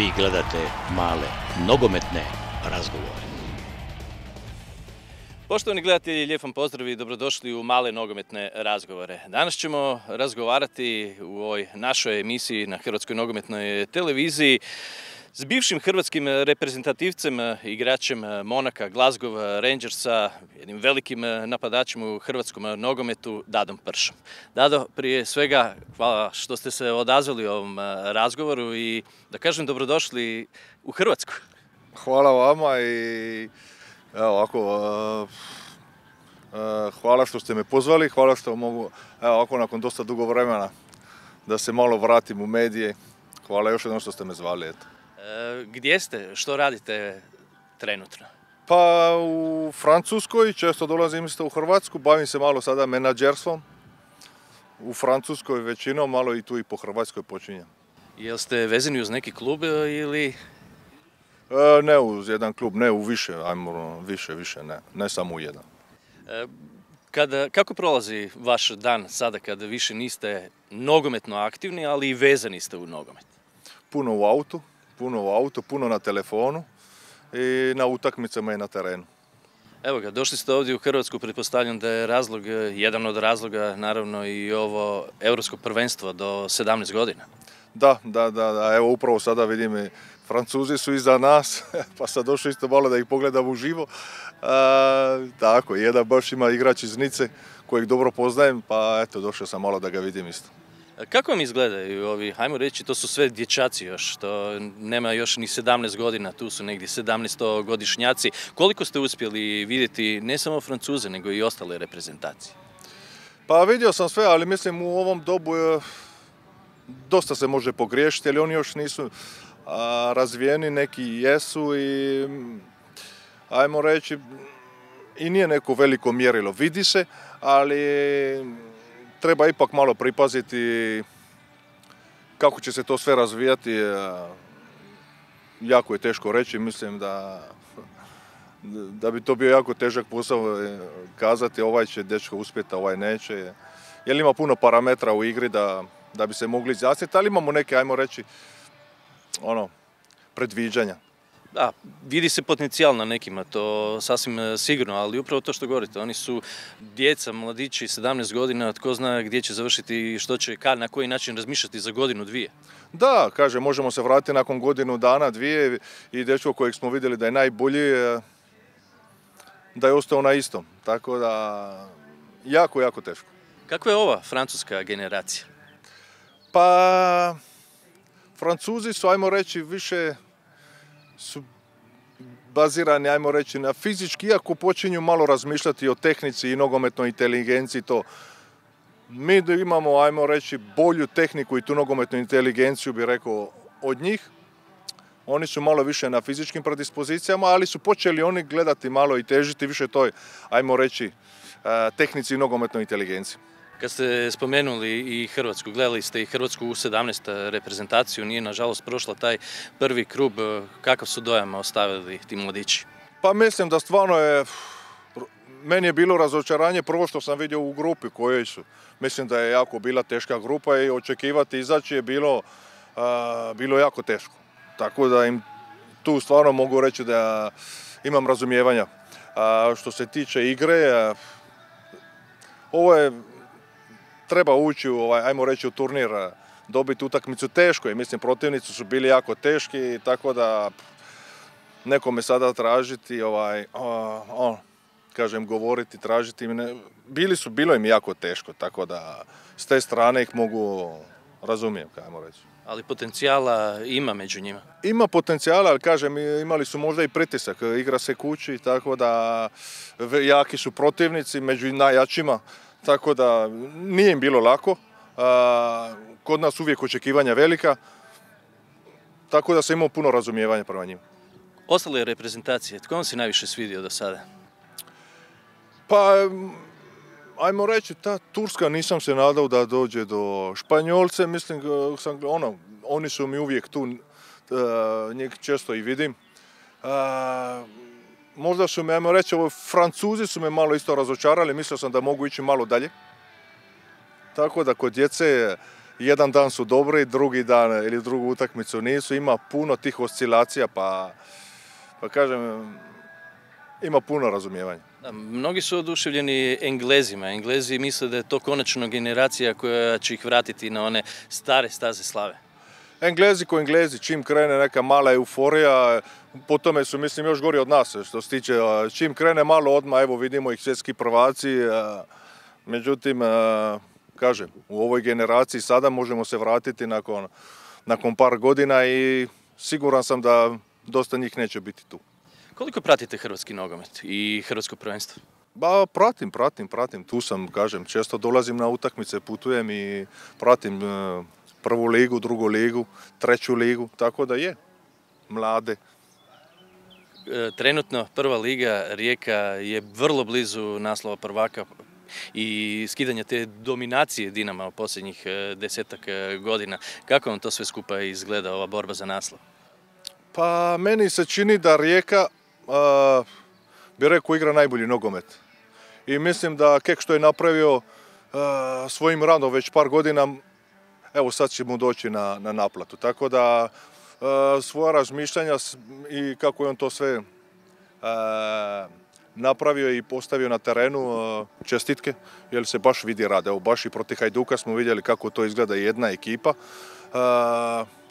Vi gledate male nogometne razgovore. Poštovani gledatelji, lijep vam pozdrav i dobrodošli u male nogometne razgovore. Danas ćemo razgovarati u ovoj našoj emisiji na Hrvatskoj nogometnoj televiziji s bivšim hrvatskim reprezentativcem, igračem Monaka, Glasgow Rangersa, jednim velikim napadačem u hrvatskom nogometu, Dadom Pršom. Dado, prije svega hvala što ste se odazvali ovom razgovoru i da kažem dobrodošli u Hrvatsku. Hvala vama i evo ovako, hvala što ste me pozvali, hvala što mogu, evo ovako nakon dosta dugo vremena da se malo vratim u medije. Hvala još jednom što ste me zvali, eto. Gdje ste? Što radite trenutno? Pa u Francuskoj, često dolazim isto u Hrvatsku, bavim se malo sada menadžerstvom. U Francuskoj većinom, malo i tu i po Hrvatskoj počinjem. Jel ste vezani uz neki klub ili... Ne uz jedan klub, ne u više, ajmo više, ne samo u jedan. Kako prolazi vaš dan sada kada više niste nogometno aktivni, ali i vezani ste u nogomet? Puno u autu, puno na telefonu i na utakmicama i na terenu. Evo ga, došli ste ovdje u Hrvatsku, pretpostavljam da je jedan od razloga naravno i ovo Europsko prvenstvo do 17 godina. Da, evo upravo sada vidim, Francuzi su iza nas, pa sad došao isto malo da ih pogledam uživo. Tako, jedan baš ima igrač iz Nice kojeg dobro poznajem, pa eto, došao sam malo da ga vidim isto. Kako vam izgledaju ovi, hajmo reći, to su sve dječaci još, to nema još ni 17 godina, tu su negdje 17-godišnjaci. Koliko ste uspjeli vidjeti ne samo Francuze, nego i ostale reprezentacije? Pa vidio sam sve, ali mislim u ovom dobu dosta se može pogriješiti, ali oni još nisu razvijeni, neki jesu i ajmo reći i nije neko veliko mjerilo. Vidi se, ali treba ipak malo pripaziti kako će se to sve razvijati. Jako je teško reći, mislim da bi to bio jako težak posao kazati ovaj će dečko uspjeti, ovaj neće. Jer ima puno parametra u igri da bi se mogli izjasniti, ali imamo neke, ajmo reći, predviđanja. Da, vidi se potencijal na nekima, to sasvim sigurno, ali upravo to što govorite, oni su djeca, mladići, 17 godina, tko zna gdje će završiti i što će, na koji način razmišljati za godinu, dvije. Da, kaže, možemo se vratiti nakon godinu dana, dvije i dečko kojeg smo vidjeli da je najbolji, da je ostao na istom, tako da jako teško. Kako je ova francuska generacija? Pa, Francuzi su, ajmo reći, više su bazirani, ajmo reći, na fizički, iako počinju malo razmišljati o tehnici i nogometnoj inteligenciji, to mi imamo, ajmo reći, bolju tehniku i tu nogometnu inteligenciju, bi rekao, od njih. Oni su malo više na fizičkim predispozicijama, ali su počeli oni gledati malo i težiti više toj, ajmo reći, tehnici i nogometnoj inteligenciji. Kad ste spomenuli i Hrvatsku, gledali ste i Hrvatsku u 17 reprezentaciju, nije nažalost prošla taj prvi krug, kakav su dojam ostavili ti mladići? Pa mislim da stvarno meni je bilo razočaranje prvo što sam vidio u grupi kojoj su. Mislim da je jako bila teška grupa i očekivati izaći je bilo jako teško. Tako da im tu stvarno mogu reći da imam razumijevanja. Što se tiče igre, ovo je treba ući ajmo reći, u turnir, dobiti utakmicu teško i mislim protivnici su bili jako teški, tako da nekome sada tražiti, kažem, govoriti, tražiti, bilo im jako teško, tako da s te strane ih mogu razumijem, ajmo reći. Ali potencijala ima među njima? Ima potencijala, ali kažem, imali su možda i pritisak, igra se kući, tako da jaki su protivnici među najjačima. Tako da nije im bilo lako, kod nas uvijek očekivanja velika, tako da sam imao puno razumijevanja prema njima. Ostale reprezentacije, tko vam se najviše svidio do sada? Pa, ajmo reći, ta Turska nisam se nadao da dođe do Španjolce, mislim, oni su mi uvijek tu, njih često i vidim. Možda su me, ajmo reći, Francuzi su me malo isto razočarali, mislio sam da mogu ići malo dalje. Tako da kod djece jedan dan su dobri, drugi dan ili drugu utakmicu nisu. Ima puno tih oscilacija, pa kažem, ima puno razumijevanja. Da, mnogi su oduševljeni Englezima. Englezi misle da je to konačno generacija koja će ih vratiti na one stare staze slave. Englezi ko Englezi, čim krene neka mala euforija, po tome su, mislim, još gori od nas, što se tiče, čim krene malo odmah, evo vidimo ih svjetski prvaci, međutim, kažem, u ovoj generaciji sada možemo se vratiti nakon par godina i siguran sam da dosta njih neće biti tu. Koliko pratite hrvatski nogomet i hrvatsko prvenstvo? Ba, pratim, tu sam, kažem, često dolazim na utakmice, putujem i pratim prvu ligu, drugu ligu, treću ligu, tako da je, mlade. Trenutno prva liga Rijeka je vrlo blizu naslova prvaka i skidanja te dominacije Dinama u posljednjih 10 godina. Kako vam to sve skupa izgleda, ova borba za naslov? Pa meni se čini da Rijeka, bi rekao, igra najbolji nogomet. I mislim da Kek što je napravio svojim radom već par godina, evo sad će mu doći na naplatu. Tako da svoja razmišljanja i kako je on to sve napravio i postavio na terenu, čestitke, jer se baš vidi rad. Evo, baš i protiv Hajduka smo vidjeli kako to izgleda jedna ekipa.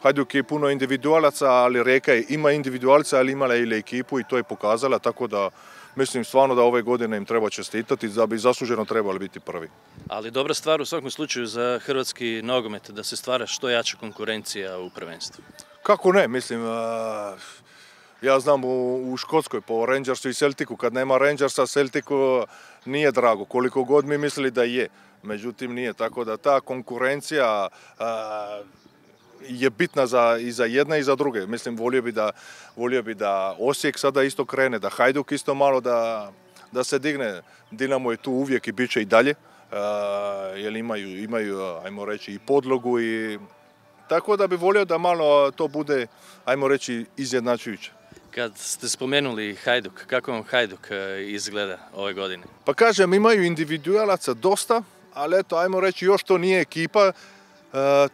Hajduk je puno individualaca, ali Rijeka ima individualca, ali imala i ekipu i to je pokazala, tako da mislim stvarno da ove godine im treba čestitati, da bi zasluženo trebali biti prvi. Ali dobra stvar u svakom slučaju za hrvatski nogomet, da se stvara što jača konkurencija u prvenstvu. Kako ne, mislim, ja znam u Škotskoj po Rangersu i Celticu, kad nema Rangersa, Celticu nije drago, koliko god mi mislili da je. Međutim nije, tako da ta konkurencija je bitna i za jedne i za druge. Mislim, volio bi da Osijek sada isto krene, da Hajduk isto malo da se digne. Dinamo je tu uvijek i bit će i dalje, jer imaju, ajmo reći, i podlogu i tako da bi volio da malo to bude, ajmo reći, izjednačujuće. Kad ste spomenuli Hajduk, kako vam Hajduk izgleda ove godine? Pa kažem, imaju individualaca dosta, ali eto, ajmo reći, još to nije ekipa.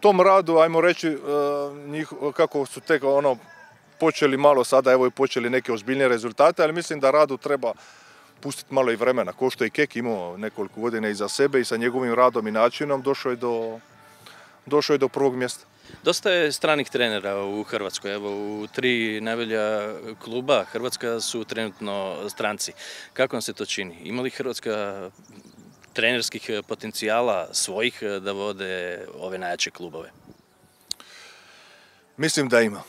Tom radu, ajmo reći, kako su tek počeli malo sada, evo i počeli neke ozbiljnije rezultate, ali mislim da radu treba pustiti malo i vremena. Ko što je Kek imao nekoliko godina iza sebe i sa njegovim radom i načinom došao je do prvog mjesta. Dosta je stranih trenera u Hrvatskoj. Evo, u 3 najbolja kluba Hrvatska su trenutno stranci. Kako vam se to čini? Ima li Hrvatska trenerskih potencijala svojih da vode ove najjače klubove? Mislim da ima.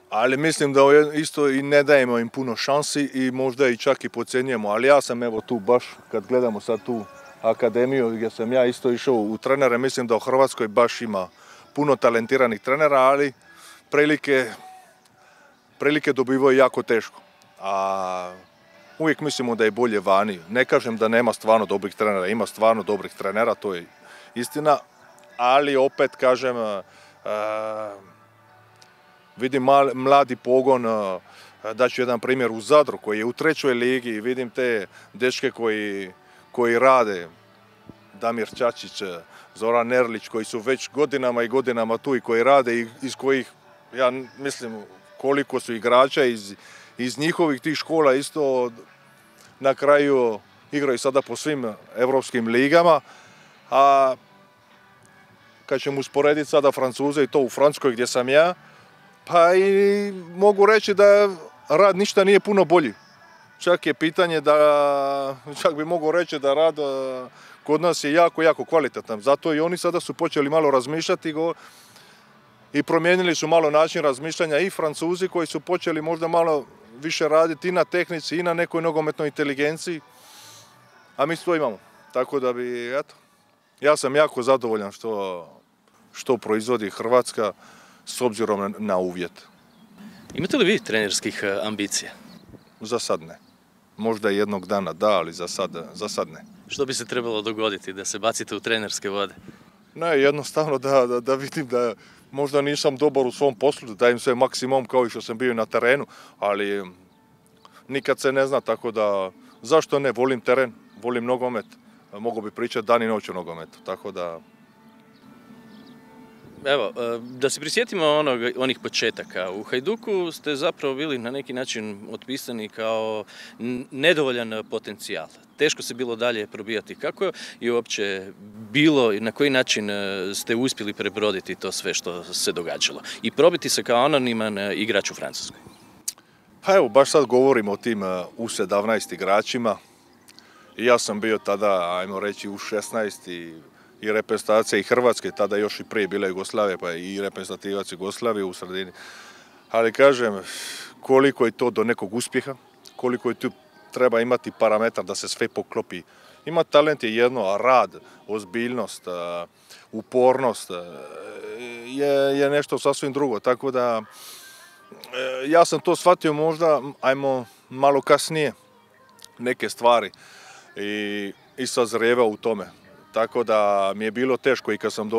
Ali mislim da isto i ne dajemo im puno šansi i možda i čak i podcjenjujemo. Ali ja sam evo tu baš, kad gledamo sad tu akademiju gdje sam ja isto išao u trenere, mislim da u Hrvatskoj baš ima puno talentiranih trenera, ali prilike dobivaju jako teško. A uvijek mislimo da je bolje vani. Ne kažem da nema stvarno dobrih trenera, ima stvarno dobrih trenera, to je istina, ali opet kažem, vidim mladi pogon, daću jedan primjer u Zadru koji je u 3. ligi i vidim te dečke koji rade, Damir Čačić, Zoran Erlić, koji su već godinama i godinama tu i koji rade i iz kojih, ja mislim, koliko su igrača iz njihovih tih škola isto na kraju igraju sada po svim evropskim ligama. A kad ćemo usporediti sada Francuze i to u Francuskoj gdje sam ja, pa i mogu reći da rad ništa nije puno bolji. Čak je pitanje čak bi mogu reći da rad kod nas je jako, jako kvalitetan. Zato i oni sada su počeli malo razmišljati i promijenili su malo način razmišljanja i Francuzi koji su počeli možda malo više raditi i na tehnici i na nekoj nogometnoj inteligenciji. A mi to imamo. Tako da bi, eto, ja sam jako zadovoljan što proizvodi Hrvatska s obzirom na uvjet. Imate li vi trenerskih ambicija? Za sad ne. Možda jednog dana da, ali za sad ne. Što bi se trebalo dogoditi da se bacite u trenerske vode? Ne, jednostavno da vidim da možda nisam dobar u svom poslu, da dajem sve maksimum kao i što sam bio na terenu, ali nikad se ne zna, tako da zašto ne, volim teren, volim nogomet, mogu bi pričati dan i noć o nogometu, tako da Evo, da se prisjetimo onih početaka. U Hajduku ste zapravo bili na neki način otpisani kao nedovoljan potencijal. Teško se bilo dalje probijati. Kako je uopće bilo i na koji način ste uspjeli prebroditi to sve što se događalo i probiti se kao anoniman igrač u Francuskoj? Pa evo, baš sad govorimo o tim U17 igračima. I ja sam bio tada, ajmo reći, U16 i reprezentacija i Hrvatske, tada još i prije bila Jugoslavija, pa i reprezentativac Jugoslavije u sredini. Ali kažem, koliko je to do nekog uspjeha, koliko je tu treba imati parametar da se sve poklopi. Ima talent je jedno, a rad, ozbiljnost, upornost je nešto sasvim drugo. Tako da ja sam to shvatio možda, ajmo malo kasnije, neke stvari i sazrijevao u tome. Tako da mi je bilo teško i kad sam,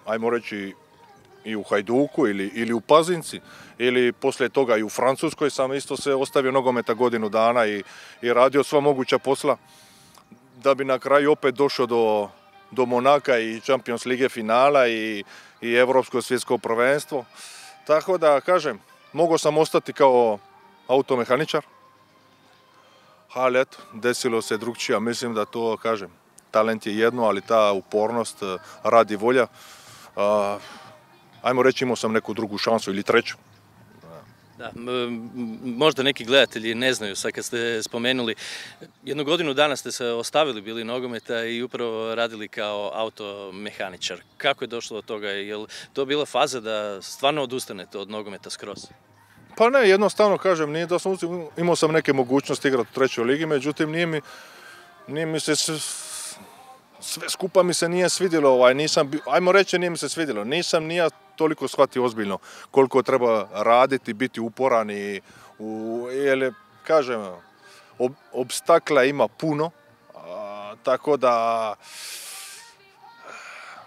ajmo reći, i u Hajduku ili u Pazinci, ili poslije toga i u Francuskoj sam isto se ostavio nogometa godinu dana i radio sva moguća posla, da bi na kraju opet došao do Monaka i Champions Lige finala i Europsko svjetsko prvenstvo. Tako da, kažem, mogao sam ostati kao automehaničar, ali eto, desilo se drugčije. Mislim da to, kažem, talent je jedno, ali ta upornost, rad i volja, ajmo reći, imao sam neku drugu šansu ili treću. Da, možda neki gledatelji ne znaju, sad kad ste spomenuli, jednu godinu dana ste se ostavili bili nogometa i upravo radili kao automehaničar. Kako je došlo do toga? Je li to bila faza da stvarno odustanete od nogometa skroz? Pa ne, jednostavno kažem, nije da sam imao sam neke mogućnosti igrati u trećoj ligi, međutim nije mi se sve skupa mi se nije svidjelo, ajmo reći nije mi se svidjelo, nisam ni ja toliko shvatio ozbiljno koliko treba raditi, biti uporan jer kažem, obstakla ima puno, tako da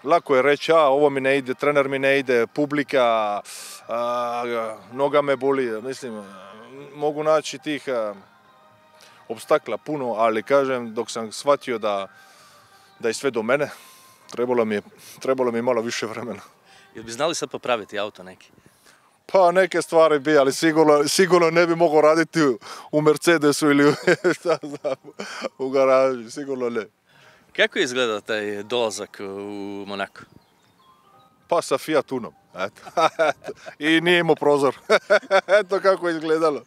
lako je reći, ovo mi ne ide, trener mi ne ide, publika, noga me boli, mislim, mogu naći tih obstakla puno, ali kažem, dok sam shvatio da je sve do mene, trebalo mi je malo više vremena. Jel bi znali sad popraviti auto neki? Pa neke stvari bi, ali sigurno ne bi mogao raditi u Mercedesu ili u garaži, sigurno ne. Kako je izgledao taj dolazak u Monako? Pa sa Fiat Unom, eto. I nije imao prozor. Eto kako je izgledalo.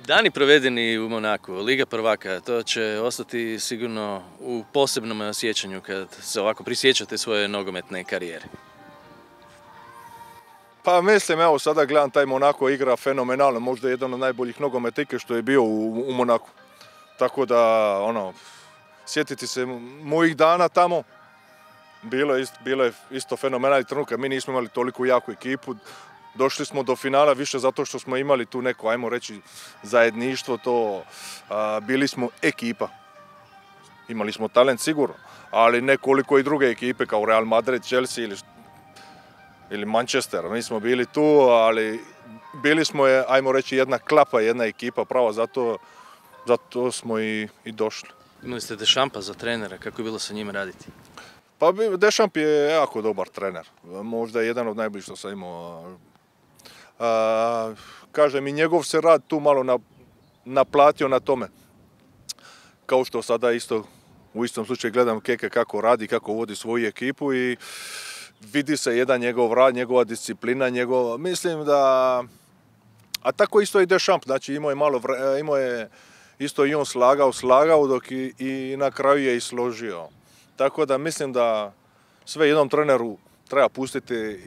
Dani provedeni u Monaku, Liga prvaka, to će ostati sigurno u posebnom sjećanju kad se ovako prisjećate svoje nogometne karijere. Pa mislim, evo sada gledam, taj Monako igra fenomenalno, možda jedan od najboljih nogometike što je bio u Monaku. Tako da, sjetiti se mojih dana tamo, bilo je isto fenomenalni trenutak. Mi nismo imali toliko jaku ekipu, došli smo do finala više zato što smo imali tu neko, ajmo reći, zajedništvo, bili smo ekipa. Imali smo talent sigurno, ali ne koliko i druge ekipe kao Real Madrid, Chelsea ili Manchester. Mi smo bili tu, ali bili smo, ajmo reći, jedna klapa, jedna ekipa, pravo, zato smo i došli. Imali ste Deschampa za trenera, kako je bilo sa njim raditi? Pa Deschamps je jako dobar trener, možda jedan od najboljih što sam imao. Kažem, i njegov se rad tu malo naplatio na tome. Kao što sada isto u istom slučaju gledam Keke kako radi, kako vodi svoju ekipu i vidi se jedan njegov rad, njegova disciplina, mislim da... A tako isto i Deschamps, znači imao je isto i on slagao dok i na kraju je i složio. Tako da mislim da sve jednom treneru treba pustiti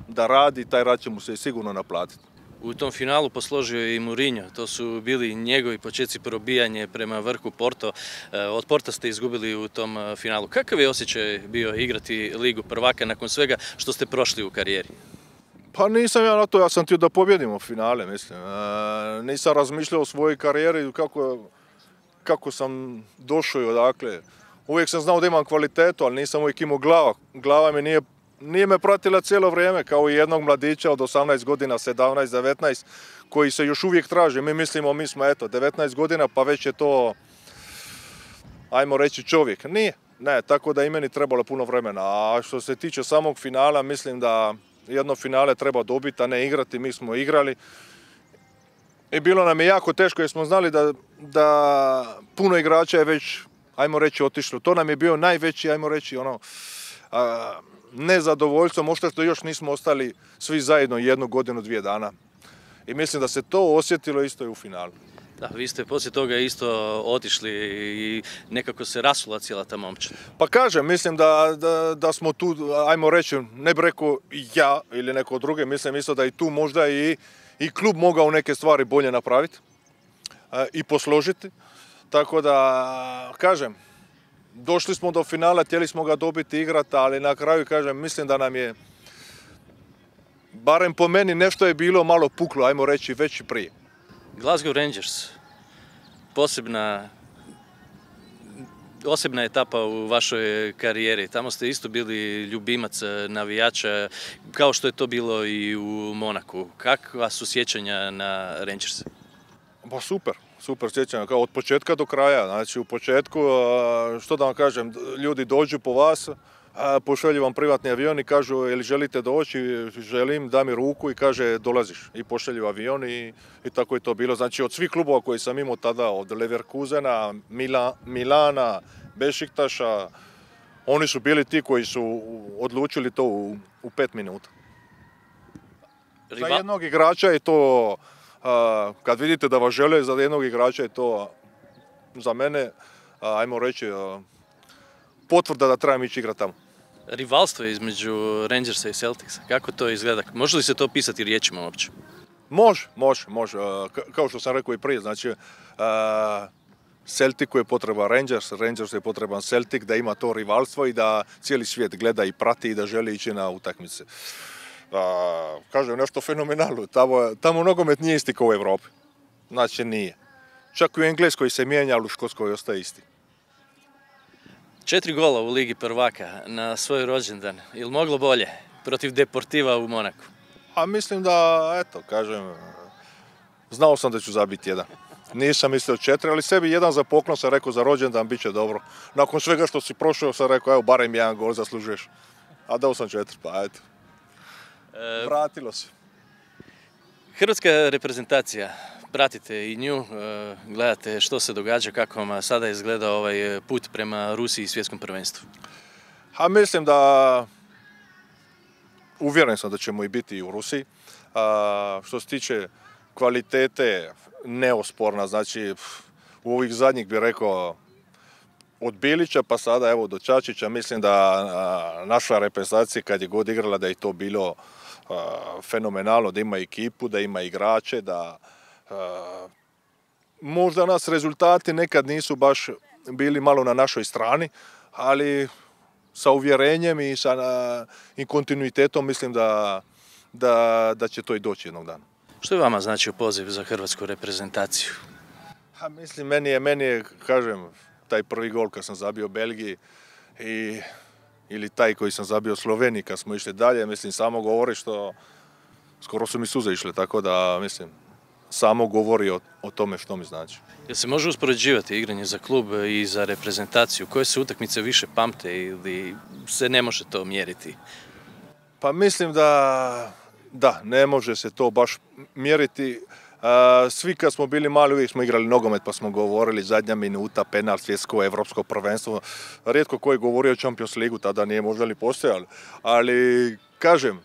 da radi, taj rad će mu se sigurno naplatiti. U tom finalu posložio je i Mourinho, to su bili njegovi početci probijanje prema vrhu Porto. Od Porta ste izgubili u tom finalu. Kakav je osjećaj bio igrati Ligu prvaka nakon svega što ste prošli u karijeri? Pa nisam ja na to, ja sam htio da pobjedimo finale, mislim. Nisam razmišljao o svojoj karijeri, kako sam došao i odakle. Uvijek sam znao da imam kvalitetu, ali nisam uvijek imao glava. Glava mi nije me pratila cijelo vrijeme, kao i jednog mladića od 18 godina, 17, 19, koji se još uvijek traži. Mi mislimo, mi smo 19 godina, pa već je to, ajmo reći, čovjek. Ne, tako da i meni trebalo puno vremena. A što se tiče samog finala, mislim da jedno finale treba dobiti, a ne igrati. Mi smo igrali. I bilo nam je jako teško jer smo znali da puno igrača je već, ajmo reći, otišlo. To nam je bio najveći, ajmo reći, nezadovoljstvo, možda što još nismo ostali svi zajedno 1 godinu, 2 dana. I mislim da se to osjetilo isto i u finalu. Da, vi ste poslije toga isto otišli i nekako se rasula cijela ta momčad. Pa kažem, mislim da smo tu, ajmo reći, ne bi rekao ja ili neko druge, mislim isto da i tu možda i klub mogao neke stvari bolje napraviti i posložiti. Tako da, kažem, došli smo do finala, htjeli smo ga dobiti igrati, ali na kraju, kažem, mislim da nam je, barem po meni, nešto je bilo malo puklo, ajmo reći, već i prije. Glasgow Rangers, posebna etapa u vašoj karijeri. Tamo ste isto bili ljubimac navijača, kao što je to bilo i u Monaku. Kakva su sjećanja na Rangers? Pa super sjećanja, kao od početka do kraja. Znači u početku, što da vam kažem, ljudi dođu po vas, pošalju vam privatni avion i kažu jel želite doći, želim, da mi ruku i kaže dolaziš. I pošalju avion i tako je to bilo. Znači od svih klubova koji sam imao tada, od Leverkusena, Milana, Bešiktaša, oni su bili ti koji su odlučili to u 5 minuta. Za jednog igrača je to, kad vidite da vas žele, za jednog igrača je to za mene, ajmo reći, potvrda da trebam ići igrati tamo. Rivalstvo između Rangersa i Celticsa, kako to izgleda? Može li se to opisati riječima uopće? Može. Kao što sam rekao i prije, znači Celticu je potreban Rangersu je potreban Celtic, da ima to rivalstvo i da cijeli svijet gleda i prati i da želi ići na utakmice. Kažem, nešto fenomenalno. Tamo nogomet nije isti kao u Europi. Znači nije. Čak i u Engleskoj se mijenja, ali u Škotskoj ostaje isti. 4 gola u Ligi prvaka na svoj rođendan. Ili moglo bolje protiv Deportiva u Monaku? A mislim da, eto, kažem, znao sam da ću zabiti 1. Nisam mislio 4, ali sebi 1 za poklon sam rekao za rođendan, bit će dobro. Nakon svega što si prošao sam rekao, evo, barem 1 gol zaslužuješ. A dao sam 4, pa eto. Vratilo se. Hrvatska reprezentacija, pratite i nju, gledate što se događa, kako vam sada izgleda ovaj put prema Rusiji i svjetskom prvenstvu? A mislim da, uvjeren sam da ćemo i biti u Rusiji. Što se tiče kvalitete, neosporna, znači u ovih zadnjih bih rekao od Bilića pa sada evo do Čačića, mislim da naša reprezentacija kad je god igrala da je to bilo fenomenalno, da ima ekipu, da ima igrače, da možda nas rezultati nekad nisu baš bili malo na našoj strani, ali sa uvjerenjem i kontinuitetom mislim da će to i doći jednog dana. Što je vama značio poziv za hrvatsku reprezentaciju? Mislim, meni je, kažem, taj prvi gol kad sam zabio Belgiji ili taj koji sam zabio Sloveniji kad smo išli dalje, mislim, samo govori što skoro su mi suze išle, tako da, mislim, samo govori o tome što mi znači. Jel se može uspoređivati igranje za klub i za reprezentaciju? Koje se utakmice više pamte ili se ne može to mjeriti? Pa mislim da, ne može se to baš mjeriti. Svi kad smo bili mali uvijek smo igrali nogomet pa smo govorili zadnja minuta, penal, svjetsko, evropsko prvenstvo. Rijetko ko je govorio o Champions Ligu, tada nije možda ni postojalo. Ali kažem,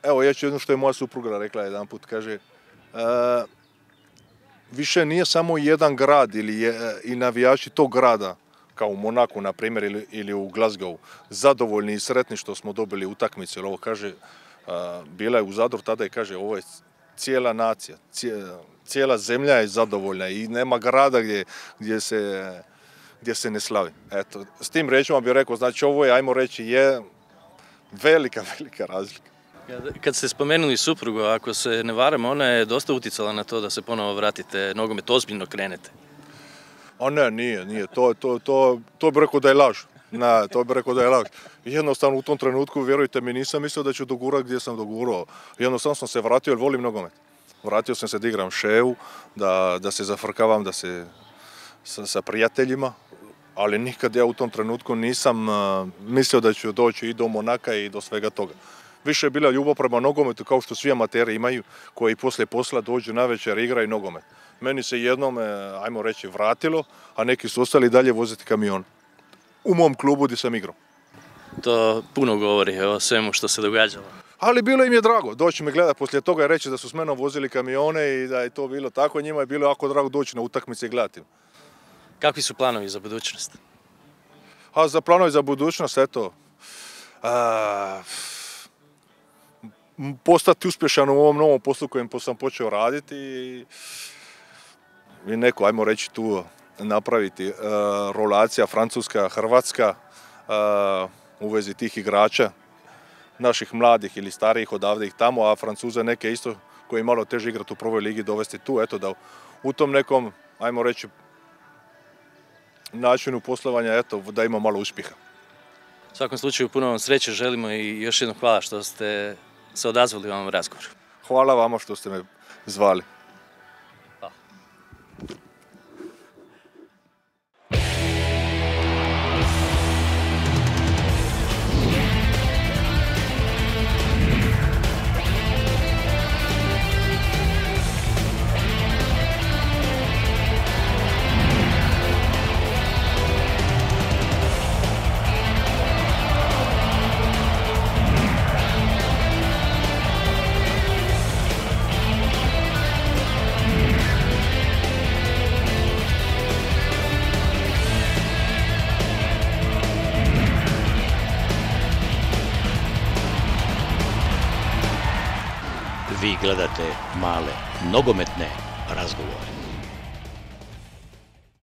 evo ja ću jedno što je moja supruga rekla jedan put, kaže više nije samo jedan grad i navijači tog grada, kao u Monaku na primjer ili u Glasgowu, zadovoljni i sretni što smo dobili utakmicu. Jer ovo kaže, bila je u Zadru tada i kaže ovo je cijela nacija, cijela zemlja je zadovoljna i nema grada gdje se ne slavi. Eto, s tim rečima bih rekao, znači ovo je, ajmo reći, je velika razlika. Kad ste spomenuli suprugu, ako se ne varam, ona je dosta utjecala na to da se ponovo vratite nogomet, ozbiljno krenete. A ne, nije. To bih rekao da je laž. Ne, to bih rekao da je laž. Jednostavno u tom trenutku, vjerujte mi, nisam mislio da ću dogurati gdje sam dogurao. Jednostavno sam se vratio jer volim nogomet. Vratio sam se da igram ševu, da se zafrkavam, da se sa prijateljima. ali nikad ja u tom trenutku nisam mislio da ću doći i do Monaka i do svega toga. Više je bila ljubav prema nogometu kao što svi amateri imaju koji poslije posla dođu navečer i igraju nogomet. Meni se jednom, ajmo reći, vratilo, a neki su ostali dalje voziti kamion. U mom klubu gdje sam igrao. To puno govori o svemu što se događalo. Ali bilo im je drago doći me gledati poslije toga i reći da su s menom vozili kamione i da je to bilo tako. Njima je bilo jako drago doći na utakmice i gledati. Kakvi su planovi za budućnost? A za planovi za budućnost, eto, postati uspješan u ovom novom poslu kojem sam počeo raditi i neko, ajmo reći, tu napraviti rolacija Francuska-Hrvatska u vezi tih igrača, naših mladih ili starijih odavde ih tamo, a Francuze neke isto koji malo teže igrati u prvoj ligi dovesti tu, eto da u tom nekom, ajmo reći, načinu poslovanja, eto, da ima malo uspjeha. U svakom slučaju puno vam sreće želimo i još jednom hvala što ste se odazvali u ovom razgovoru. Hvala vama što ste me zvali. Vi gledate Male nogometne razgovore.